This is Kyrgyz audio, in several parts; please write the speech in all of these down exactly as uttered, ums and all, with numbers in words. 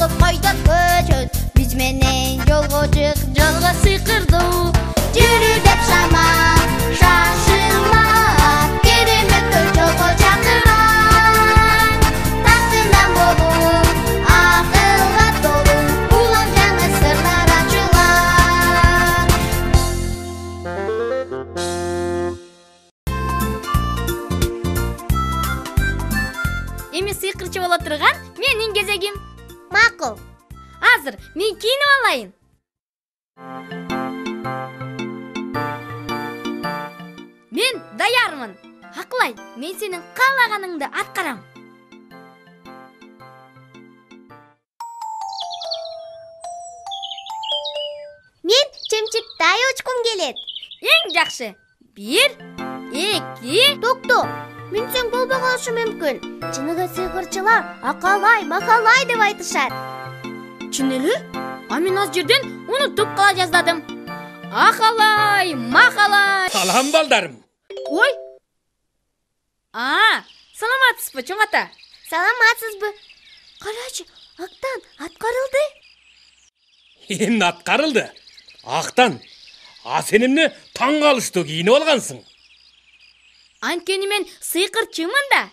жолго койдот көчөт. Биз менен жолго чык, жолго сыйкырдуу. Жүрү деп шама, шашылма, кереметтер жолго чакырат. Тактынан болу, акылга толу, улам жаңы сырлар ачылат. Эми сыйкырчы боло турган менин кезегим. Макул. Азыр мен кийинип алайын. Мен даярмын. Акылай, мен сенин каалаганыңды аткарам. Мен чымчыктай учкум келет. Эң жакшы. Бир, эки. Токто, минсең болбой калышы мүмкүн. Чыныгы сыйкырчылар акалай, махалай деп айтышат. Чын эле? А мен аз жерден унутуп кала жаздадым. Акалай, махалай. Салам балдарым. Ой. А, саламатсызбы, чоң ата? Саламатсызбы? Карачы, Актан аткарылды. Эмне аткарылды? Актан. А сен эмне таң калыштуу кийинип алгансың? Анткени мен сыйкырчымын да.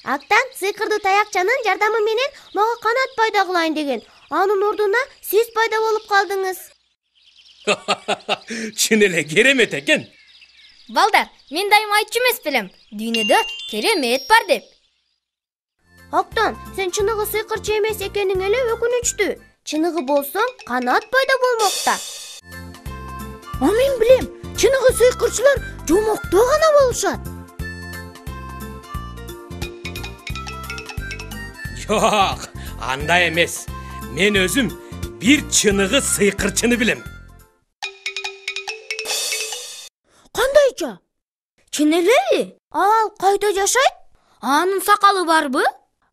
Актан сыйкырдуу таякчанын жардамы менен мага канат пайда кылайын деген. Анын ордуна сиз пайда болуп калдыңыз. Чын эле керемет экен. Балдар, мен дайыма айтчу эмес белем. Дүйнөдө керемет бар деп. Актан, сен чыныгы сыйкырчы эмес экениң эле өкүнүчтүү. Чыныгы болсоң, канат пайда болмокта. А мен билем, чыныгы сыйкырчылар жомокто гана болушат. Жок, андай эмес. Мен өзүм бир чыныгы сыйкырчыны билем. Кандайча? Чын эле? Ал кайда жашайт? Анын сакалы барбы?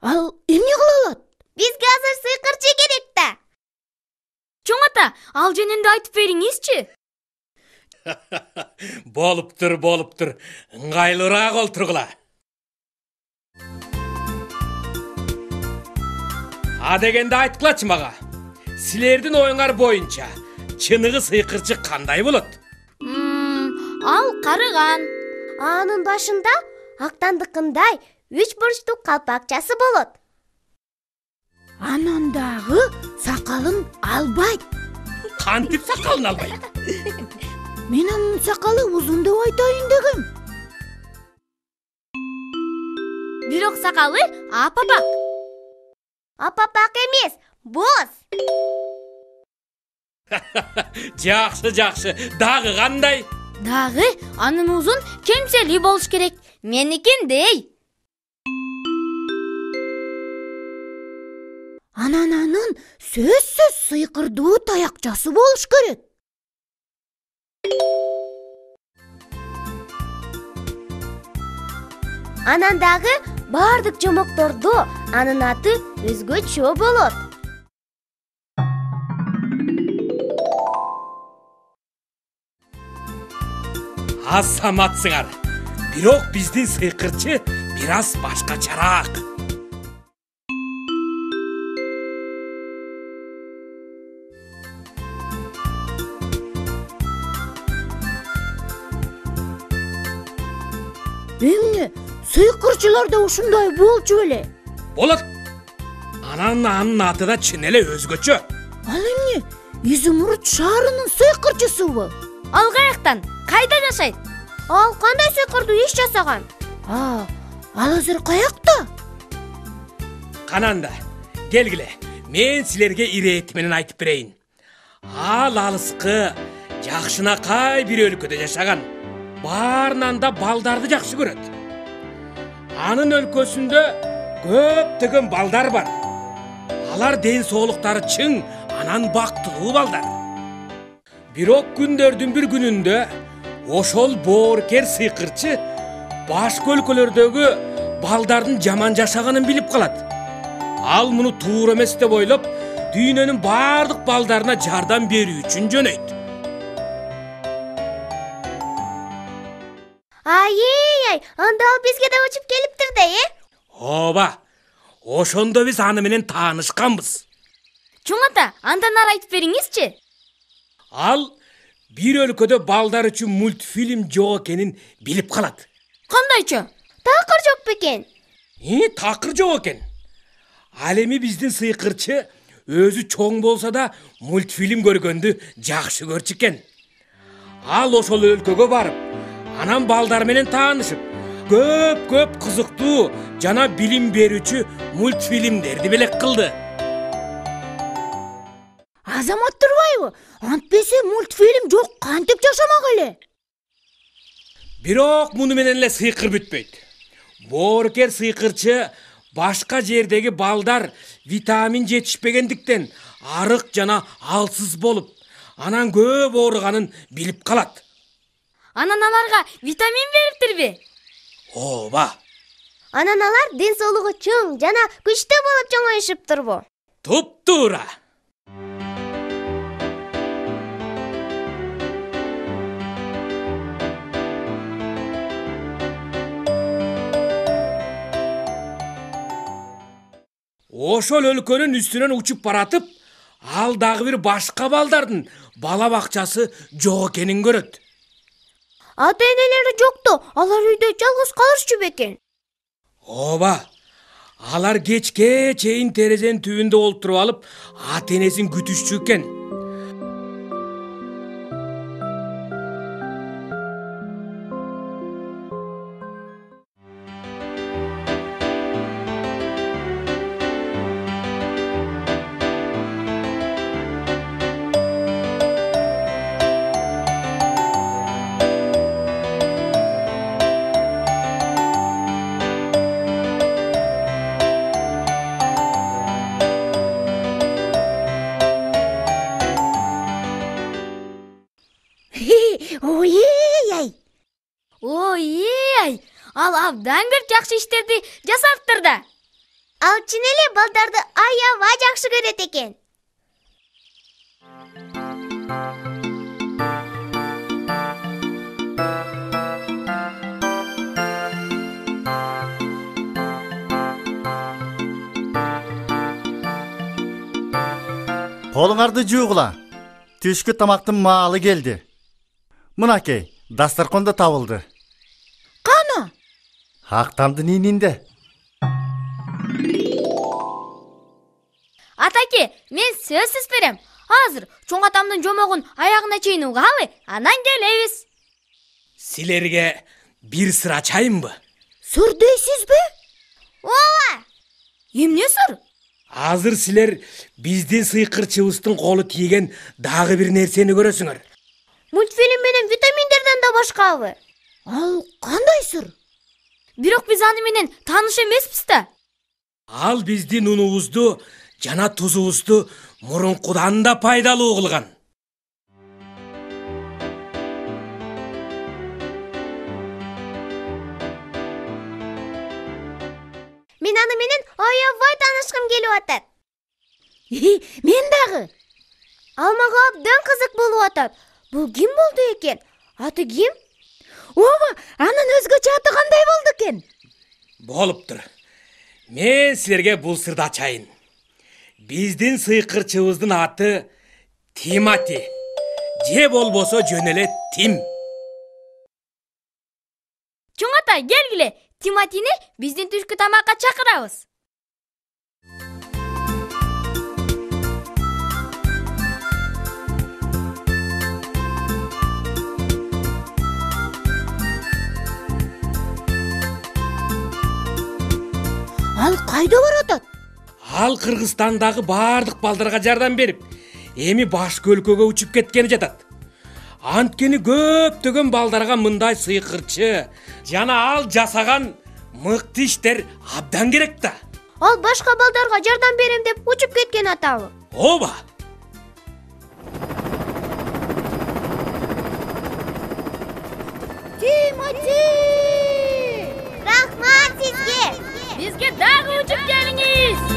Ал эмне кыла алат? Бизге азыр сыйкырчы керек да. Чоң ата, ал жөнүндө айтып бериңизчи. Болуптур, болуптур. Ыңгайлуураак олтургула. А дегенде айткылачы мага. Силердин оюңар боюнча чыныгы сыйкырчы кандай болот? Ал карыган. Анын башында Актандыкындай үч бурчтуу калпакчасы болот. Анан дагы сакалын албайт. Кантип сакалын албайт? Мен анын сакалы узун деп айтайын дегем. Бирок сакалы апапак. Апапак эмес, боз. Жакшы, жакшы. Дагы кандай? Дагы анын узун кемсели болуш керек. Меникиндей. Анан анын сөзсүз сыйкырдуу таякчасы болуш керек. Анан дагы бардык жомоктордо анын аты өзгөчө болот. Азаматсыңар. Бирок биздин сыйкырчы бир аз башкачараак. Эмне? Сыйкырчылар да ушундай болчу беле? Болот. Анан анын аты да чын эле өзгөчө. Ал эмне? Изумруд шаарынын сыйкырчысыбы? Ал каяктан? Кайда жашайт? Ал кандай сыйкырдуу иш жасаган? А, ал азыр каякта? Кананда, келгиле. Мен силерге ирети менен айтып берейин. Ал алыскы, жакшынакай бир өлкөдө жашаган. Баарынан да балдарды жакшы көрөт. Анын өлкөсүндө көптөгөн балдар бар. Алар ден соолуктары чың, анан бактылуу балдар. Бирок күндөрдүн бир күнүндө ошол боорукер сыйкырчы башка өлкөлөрдөгү балдардын жаман жашаганын билип калат. Ал муну туура эмес деп ойлоп, дүйнөнүн бардык балдарына жардам берүү үчүн жөнөйт. Ай-ай, анда ал бизге да учуп келиптир да, э? Ооба. Ошондо биз аны менен таанышканбыз. Чоң ата, андан ары айтып бериңизчи. Ал бир өлкөдө балдар үчүн мультфильм жок экенин билип калат. Кандайча? Такыр жок бекен? И, такыр жок экен. Ал эми биздин сыйкырчы өзү чоң болсо да мультфильм көргөндү жакшы көрчү экен. Ал ошол өлкөгө барып, анан балдар менен таанышып, көп-көп кызыктуу жана билим берүүчү мультфильмдерди белек кылды. Азамат турбайбы? Антпесе мультфильм жок кантип жашамак эле? Бирок муну менен эле сыйкыр бүтпөйт. Боорукер сыйкырчы башка жердеги балдар витамин жетишпегендиктен арык жана алсыз болуп, анан көп ооруганын билип калат. Анан аларга витамин бериптирби? Ооба. Анан алар ден соолугу чоң жана күчтүү болуп чоңоюшуптурбу? Туп-туура. Ошол өлкөнүн үстүнөн учуп баратып, ал дагы бир башка балдардын бала бакчасы жок экенин көрөт. Ата-энелери жокту, алар үйдө жалгыз калышчу бекен? Ооба. Алар кечке чейин терезенин түбүндө олтуруп алып, ата-энесин күтүшчү экен. Ой-ей! Ой-ей! Ал абдан көп жакшы иштерди жасаптыр да. Ал чын эле балдарды аябай жакшы көрөт экен. Колуңарды жуугула. Түшкү тамактын маалы келди. Мынакей, дастарконда табылды. Кана? Актамдын ининде. Атаке, мен сөзсүз берем. Азыр чоң атамдын жомогун аягына чейин угалы, анан келебиз. Силерге бир сыр ачайынбы? Сыр дейсизби? Ооба. Эмне сыр? Азыр силер биздин сыйкырчыбыздын колу тийген дагы бир нерсени көрөсүңөр. Мультфильм менен витаминдерден да башкабы? Ал кандай сыр? Бирок биз аны менен тааныш эмеспиз да. Ал биздин унубузду жана тузубузду мурункудан да пайдалуу кылган. Мен аны менен аябай таанышкым келип атат. Мен дагы. Ал мага абдан кызык болуп атат. Бул ким болду экен? Аты ким? Ооба, анын өзгөчө аты кандай болду экен? Болуптур. Мен силерге бул сырды ачайын. Биздин сыйкырчыбыздын аты Тимати. Же болбосо жөн эле Тим. Чоң ата, келгиле. Тиматини биздин түшкү тамакка чакырабыз. Ал кайда баратат? Ал Кыргызстандагы баардык балдарга жардам берип, эми башка өлкөгө учуп кеткени жатат. Анткени көптөгөн балдарга мындай сыйкырчы жана ал жасаган мыкты иштер абдан керек да. Ал башка балдарга жардам берем деп учуп кеткен атабы? Ооба. Тимати! Рахмат сизге. Бизге дагы учуп келиңиз.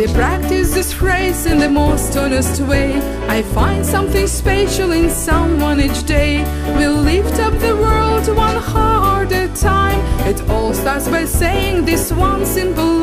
they practice this phrase in the most honest way. I find something special in someone each day. We'll lift up the world one heart at a time. It all starts by saying this one simple